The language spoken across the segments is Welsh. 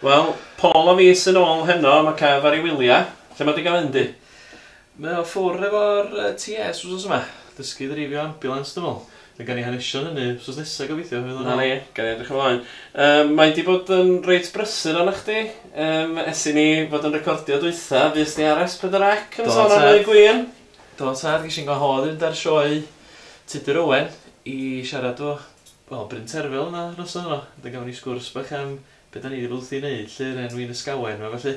Wel, Paul a fi sy'n ôl heno, mae Kev ar ei wyliau. Lle mae di gael fynd i? Mae o ffwr efo'r TS wsos yma. Dysgu ddreifio ambulance, dwi'n meddwl. Fe gan i hanesion hynny wsos nesaf gobeithio. Fydd o'n Na ôl. ni, gan i edrych ymlaen. Mae di bod yn reit brysur arna chdi. Ers i ni fod yn recordio dwytha, fues ni ar S4C yn Do, sôn am tad. y gwin. Do, tad, ges i'n gwahodd i fynd ar sioe Tudur Owen i siarad o, wel, Bryn Terfel yna noson yno. Wedyn gafon ni sgwrs bach am be da ni wedi bod wrthi'n neud, lly'r enw Wyn Ysgawen, ma felly.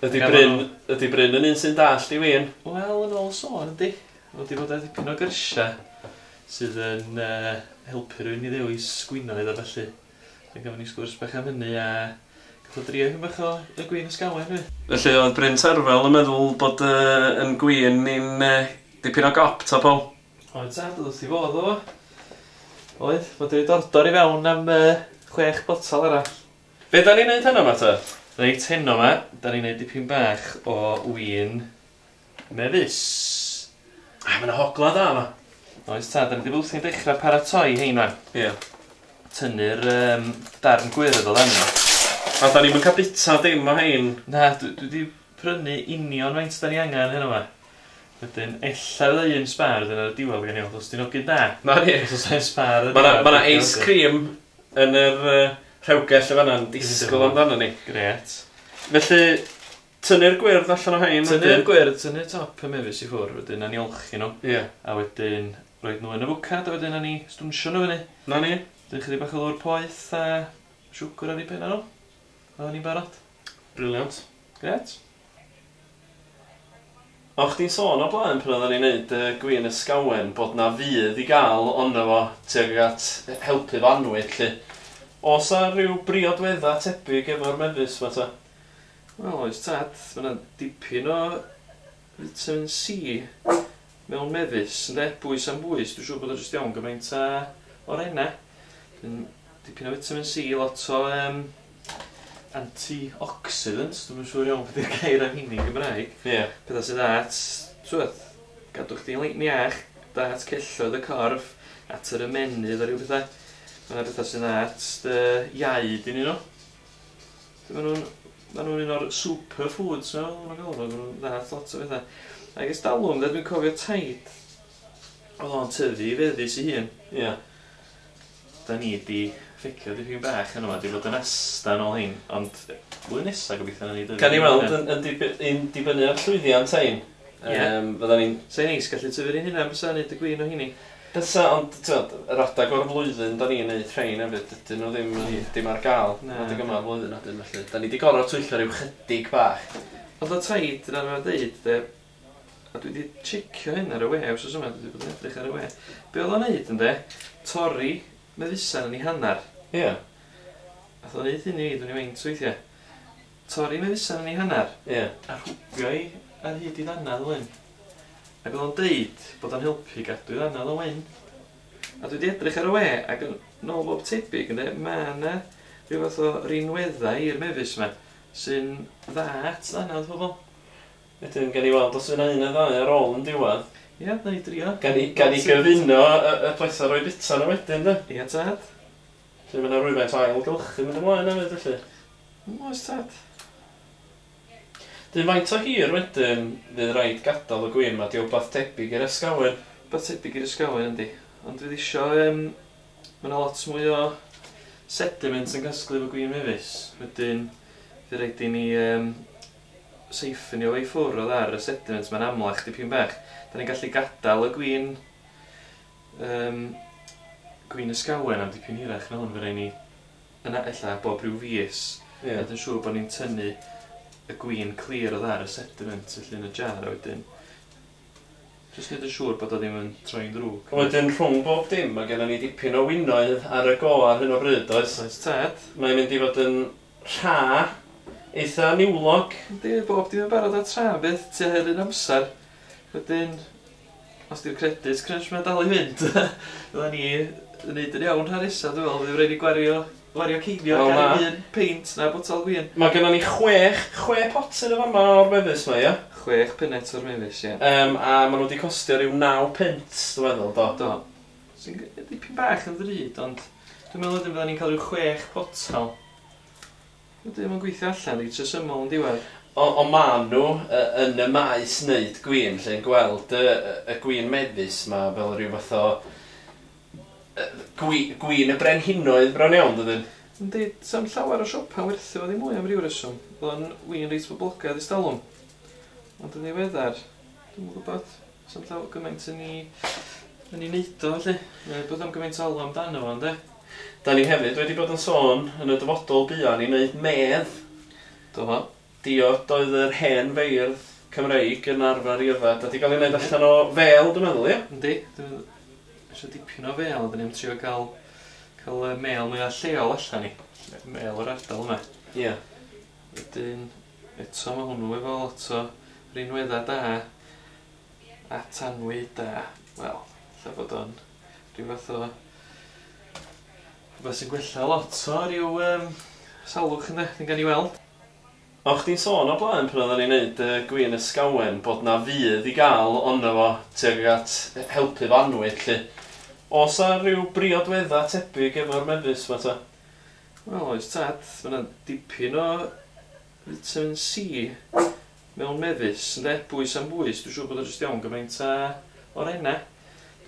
Ydy Gafon Bryn, nhw- ydy Bryn yn un sy'n dallt i win? Wel, yn ôl sôn, yndi. Wedi bod ar dipyn o gyrsia sydd yn helpu rhywun i ddewis gwinoedd a felly. Wedyn gafon ni sgwrs bach am hynny a gath o drio hyn bach o y gwin Ysgawen, fi. Felly oedd Bryn Terfel yn meddwl bod yn gwin ni'n dipyn o gop, ta Paul? Oedd tad, oedd wrth i fodd o. Oedd, bod wedi dordor i fewn am 6 botel arall. Be da ni'n neud heno ma ta? Reit, heno ma, da ni'n neud dipyn bach o win mefus. Ah, mae yna hogla da yma. Oes tad, da ni wedi bod wrthi'n dechrau paratoi hein wan. Ie. Tynnu'r darn gwyrdd o ddan nhw. A da ni'n cael bita dim o hein. Na, dwi wedi prynu union faint da ni angen heno ma. Wedyn, ella fydda un sbar wedyn ar y diwedd gen i weld, os di'n ogyn da. Na ni. Os oes un sbar ar y Mae yna diwedd, ma dwi'n ice cream yn yr rhewgell y fanna'n disgwyl amdano ni. Gret. Felly, tynnu'r gwyrdd allan o hein. Tynnu'r wedyn. gwyrdd, tynnu'r top y mefus i ffwrdd, wedyn na ni olchi nhw. Ie. A wedyn roed nhw yn y fwcad, a wedyn na ni stwnsio nhw fyny. Na ni. Wedyn chydig bach o ddŵr poeth a siwgr ar ei penna nhw. A ni'n barod. Briliant. Gret. O, chdi'n sôn o blaen pan oedden ni'n neud gwin Ysgawen bod na fydd i gael ono fo tuag at helpu fo annwyd, lly. Oes 'na rhyw briodwedda tebyg efo'r mefus ma ta? Wel, oes tad, mae yna dipyn o vitamin C mewn mefus, ynde? Bwys am bwys, dwi'n siŵr bod o jyst iawn gymaint a orenna. Dyn, dipyn o vitamin C, lot o antioxidants, dwi'n siŵr iawn beth yw'r gair am hynny yn Gymraeg. Ie. Pethau sydd at, twyd, gadw chdi'n iach, da at celloedd y corff, at yr ymennydd a rhyw bethau. Mae yna bethau sydd at dy iaid i nhw. Maen nhw'n un o'r superfoods, maen nhw'n galw nhw, maen nhw'n dda at lot o bethau. Ac ers talwm, de, dwi'n cofio taid, oedd o'n tyfu i feddus i hun. Ie. Da ni di ffecio dipyn bach yn yma, di fod yn asdan ôl hyn, ond blwyddyn nesaf gobeithio na ni dyfu. Gan i weld yn dibynnu ar llwyddiant hein. Ie. Fydda ni'n... Sa'n neis gallu tyfu'r un hynna, bysa neud y gwin o hynny. Bysa, ond t'wod, yr adag o'r flwyddyn da ni'n neud rhein hefyd, dydyn nhw ddim, dim ar gael. Na. Adeg yma o'r flwyddyn adyn, felly. Da ni di gorfod twyllo rhyw chydig bach. Oedd o taid yn arfer deud, de, a dwi wedi checio hyn ar y we, wsos yma, dwi wedi bod yn edrych ar y we. Be oedd o'n neud, ynde? Torri mefusan yn ei hannar. Ie. Ath o'n neud hyn i fi, dwi'n ei faint weithiau. Torri mefusan yn ei hannar. Ie. A rhwbio i ar hyd i ddannedd o wyn. Ac oedd o'n deud bod o'n helpu gadw i ddannedd o wyn. A dwi wedi edrych ar y we, ac yn nôl bob tebyg, ynde, mae yna rhyw fath o rinweddau i'r mefus yma sy'n dda at ddannedd pobl. Wedyn, gan i weld os yna un neu ddau ar ôl yn diwedd. Ie, na i drio. Gan i gyfuno y pletha roi bita nhw wedyn, de. Ie, tad. Felly mae yna rhywfaint o ailgylchu mynd ymlaen hefyd, felly. Oes, tad. Dyn faint o hir wedyn fydd rhaid gadael y gwin ma, di wbath tebyg i'r Ysgawen. Wbath tebyg i'r Ysgawen, yndi. Ond fydd isio, mae yna lot mwy o sediment yn casglu efo gwin mefus. Wedyn, fydd rhaid i ni seiffynio fo i ffwrdd o ar y sediment, mae'n amlach dipyn bach. Da ni'n gallu gadael y gwin, gwin Ysgawen am dipyn hirach na hwn, fydd rhaid ni yna ella bob rhyw fis. Ie. Neud yn siŵr bod ni'n tynnu y gwin clir o ar y sediment felly yn y jar a wedyn. Jyst neud yn siŵr bod o ddim yn troi'n drwg. Wedyn rhwng bob dim, mae gennym ni dipyn o winoedd ar y go ar hyn o bryd, oes? Oes tad. Mae'n mynd i fod yn rha eitha niwlog. Yndi, bob dim yn barod ar tra beth, tua her un amser. Wedyn, os di'r credit crunch mae'n dal i fynd, fydda ni yn neud yn iawn rhan nesa, dwi'n meddwl, fydd rhaid i gwario ceiniog Wel, ar na. un peint na botel gwin. Mae gennym ni chwe potyn o fama o'r mefus ma, ie? 6 punnet o'r mefus, ie. A maen nhw wedi costio rhyw 9 punt, dwi'n meddwl, do. Do. Sy'n dipyn bach yn ddrud, ond dwi'n meddwl wedyn fydda ni'n cael rhyw 6 potel. Wedyn mae'n gweithio allan reit resymol yn diwedd. O ma nhw yn y maes wneud gwin, lle'n gweld y gwin mefus ma fel rhyw fath o gwin y brenhinoedd bron iawn, dydyn? Yndi, sa'm llawer o siopa werthu fo ddim mwy am ryw reswm. Oedd o'n win reit boblogaidd ers talwm. Ond yn ddiweddar, dwi'm yn gwybod, sa'm llawer gymaint yn ei wneud o, felly. Neu bod am gymaint o alw amdano fo, ynde? Da ni hefyd wedi bod yn sôn yn y dyfodol buan i wneud medd. Do fo. Diod oedd yr hen feirdd Cymreig yn arfer i yfed. A di gael ei wneud allan o fel, dwi'n meddwl, ie? Yndi. Dwi'n eisiau dipyn o fel, dyn ni'n trio cael y mel mwyaf lleol allan ni. Mel o'r ardal yma. Ie. Wedyn, eto mae hwnnw efo lot o rinweddau da, a tanwyd a, wel, lle bod o'n rhyw fath o rhywbeth sy'n gwella lot o ryw salwch ynddo, ddim gan i weld. O, chdi'n sôn o blaen pan oedden ni'n neud gwin ysgawen bod na fydd i gael ono fo tuag at helpu fo annwyd, lly. Oes 'na rhyw briodweddau tebyg efo'r mefus ma ta? Wel, oes tad, mae yna dipyn o vitamin C mewn mefus, ynde? Bwys am bwys, dwi'n siŵr bod o jyst iawn gymaint a orenna.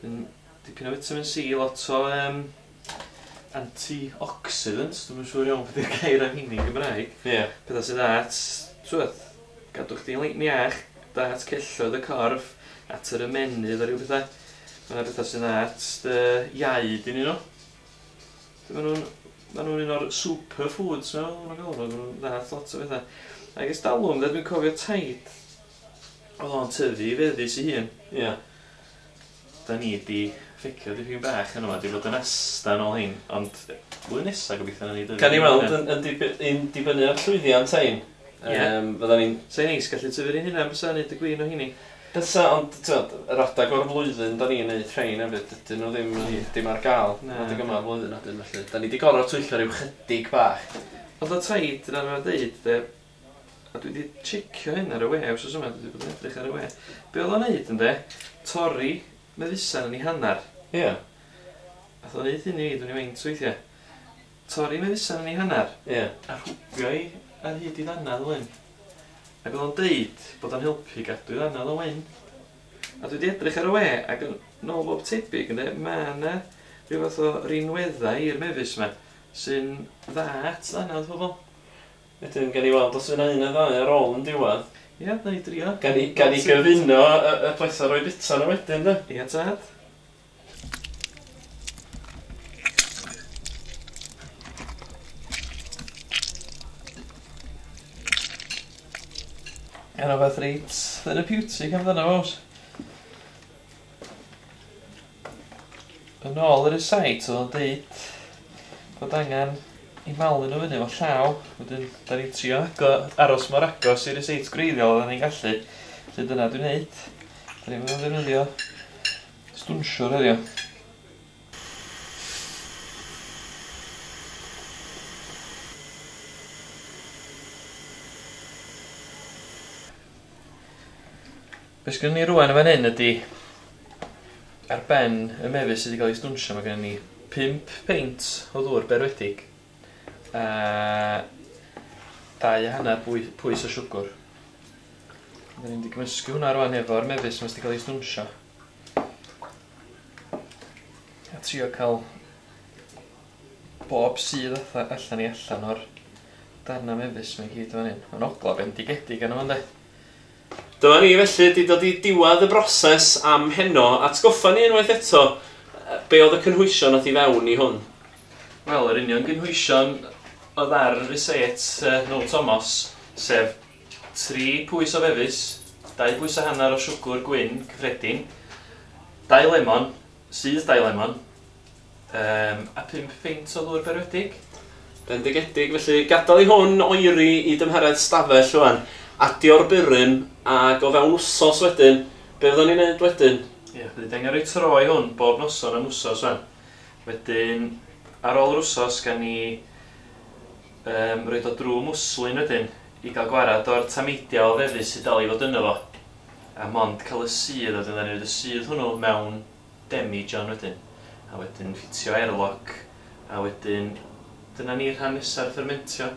Dwi'n dipyn o vitamin C, lot o antioxidants, dwi'm yn siŵr iawn beth yw'r gair am hynny yn Gymraeg. Ie. Yeah. Pethau sydd at, twyd, gadw chdi'n iach, da at celloedd y corff, at yr ymennydd a rhyw bethau. Mae yna bethau sydd at dy iaid i nhw. Maen nhw'n un o'r superfoods, maen nhw'n galw nhw, maen nhw'n dda at lot o bethau. Ac ers talwm, dwi'n cofio taid, oedd o'n tyfu i feddus ei hun. Ie. Yeah. Da ni di ffecio dipyn bach yn yma, di fod yn asdan ôl hyn, ond blwyddyn nesaf gobeithio na ni dyfu. Gan i weld yn dibynnu ar llwyddiant ein. Ie. Fydda ni'n... Sa'n neis gallu tyfu'r un hynna, bysa neud y gwin o hynny. Bysa, ond tywed, yr adag o'r flwyddyn da ni'n neud rhain hefyd, dydyn nhw ddim, ddim ar gael. Na. Adeg yma'r flwyddyn adyn, felly. Da ni di gorfod twyllo rhyw chydig bach. Ond o taid, dyna mae'n deud, de, a dwi wedi checio hyn ar y we, wsos yma, dwi wedi bod yn edrych ar y we. Be oedd o'n neud, ynde? Torri mefusan yn ei hanner. Ie. Yeah. Ath o'n neud hyn i fi, dwi'n ei faint weithiau. Torri mefusan yn ei hanner. Ie. Yeah. A rhwbio i ar hyd i ddannedd wen. Ac oedd o'n deud bod o'n helpu gadw i ddannedd o wen. A dwi wedi edrych ar y we, ac yn ôl bob tebyg, ynde, mae yna rhyw fath o rinweddau i'r mefus yma sy'n dda at ddannedd pobl. Wedyn, gan i weld os yna un neu ddau ar ôl yn diwedd. Ie, na i drio. Gan i gyfuno y pleser o'i bita nhw wedyn, de? Ie, tad. Yna fath reit therapeutic amdano fo, oes. Yn ôl ar y site, oedd o'n deud bod angen i malu nhw fyny efo llaw. Wedyn, da ni'n trio aros mor agos i'r site gwreiddiol oedden ni'n gallu. Felly dyna dwi'n neud. Da ni'n mynd i ddefnyddio stwnsiwr heddiw. Be sgynnon ni rŵan yn fan hyn ydy, ar ben y mefus sydd wedi cael ei stwnsio, mae gennym ni 5 peint o ddŵr berwedig a 2.5 pwys o siwgr. Da ni'n mynd i gymysgu hwnna rŵan efo'r mefus yma sydd wedi cael ei stwnsio. A trio cael bob sydd allan i allan o'r darna mefus yma i gyd fan hyn. Mae'n ogla bendigedig arno fo, ynde? Dyma ni felly di dod i diwedd y broses am heno. Atgoffa ni unwaith eto, be oedd y cynhwysion nath i fewn i hwn? Wel, yr union gynhwysion oedd ar y ryset Noel Thomas, sef 3 pwys o fefus, 2 pwys a hanner o siwgr gwyn cyffredin, 2 lemon, sydd 2 lemon, a 5 peint o ddŵr berwedig. Bendigedig, felly gadael i hwn oeri i dymheredd stafell rŵan. Adio'r burum ac o fewn wsos wedyn, be fyddwn ni'n neud wedyn? Ie, bydd angen rhoi tro i hwn bob noson am wsos wan. Wedyn, ar ôl yr wsos, gan ni roed o drwy mwslin wedyn i gael gwarad o'r tameidiau o fefus sydd dal i fod yno fo. A mond cael y sudd, wedyn ni'n rhoi y sudd hwnnw mewn demijohn wedyn. A wedyn ffitio airlock, a wedyn dyna ni'r rhan nesa'r fermentio.